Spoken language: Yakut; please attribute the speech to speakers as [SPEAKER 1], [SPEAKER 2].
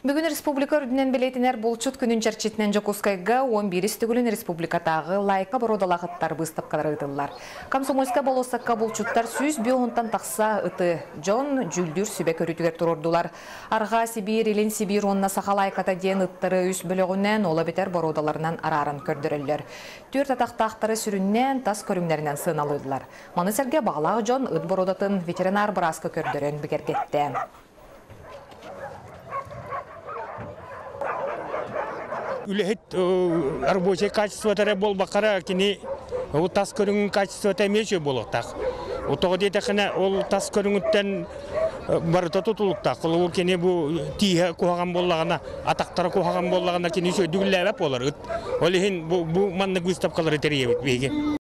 [SPEAKER 1] Бүгүн республика үрдүнэн бэлиэтэнэр булчут күнүн чэрчитинэн Дьокуускайга 11 төгүлүн республикатааҕы лайка боруодалаах ыттар быыстапкалара ыытыллар. Комсомольскай болуоссакка булчуттар 105 тахса ыты дьон дьүүллүүр сүбэ көрүүтүгэр туруордулар. Арҕаа Сибиир, Илин Сибиир уонна Саха лайката диэн ыттары үс бөлөҕүнэн, ол эбэтэр боруодаларынан арааран көрдөрөллөр. Түөрт атахтаахтары сүрүннээн тас көрүҥнэринэн сыаналыыллар. Маны сэргэ баҕалаах дьон ыт боруодатын ветеринар бырааска көрдөрөн бигэргэттэ.
[SPEAKER 2] Үлэһит рабочай качествота эрэ буолбакка кини ол тас көрүҥүн качествота эмиэ үчүгэй буолуохтаах. Тоҕо диэтэххинэ, ол тас көрүҥүттэн барыта тутулуктаах. Холобур, кини бу тииһэ куһаҕан буоллаҕына, атахтара куһаҕан буоллаҕына, кини үчүгэйдик үлэлээбэт буолар. Ол иһин бу маннык выставкалары тэрийэбит биһиги.